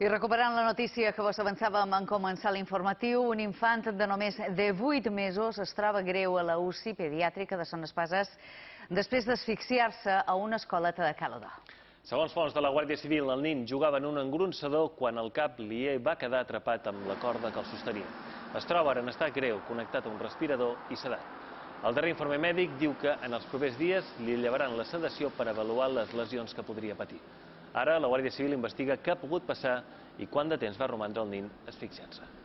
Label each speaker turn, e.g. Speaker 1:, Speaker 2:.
Speaker 1: I recuperant la notícia que vos avançàvem en començar l'informatiu, un infant de només de 8 mesos es troba greu a la UCI pediàtrica de Son Espases després d'asfixiar-se a una escoleta de Calodà.
Speaker 2: Segons fonts de la Guàrdia Civil, el nin jugava en un engronsador quan el cap li va quedar atrapat amb la corda que el sostenia. Es troba ara en estat greu, connectat a un respirador i sedat. El darrer informe mèdic diu que en els propers dies li llevaran la sedació per avaluar les lesions que podria patir. Ara la Guàrdia Civil investiga què ha pogut passar i quant de temps va romandre el nin asfixiant-se.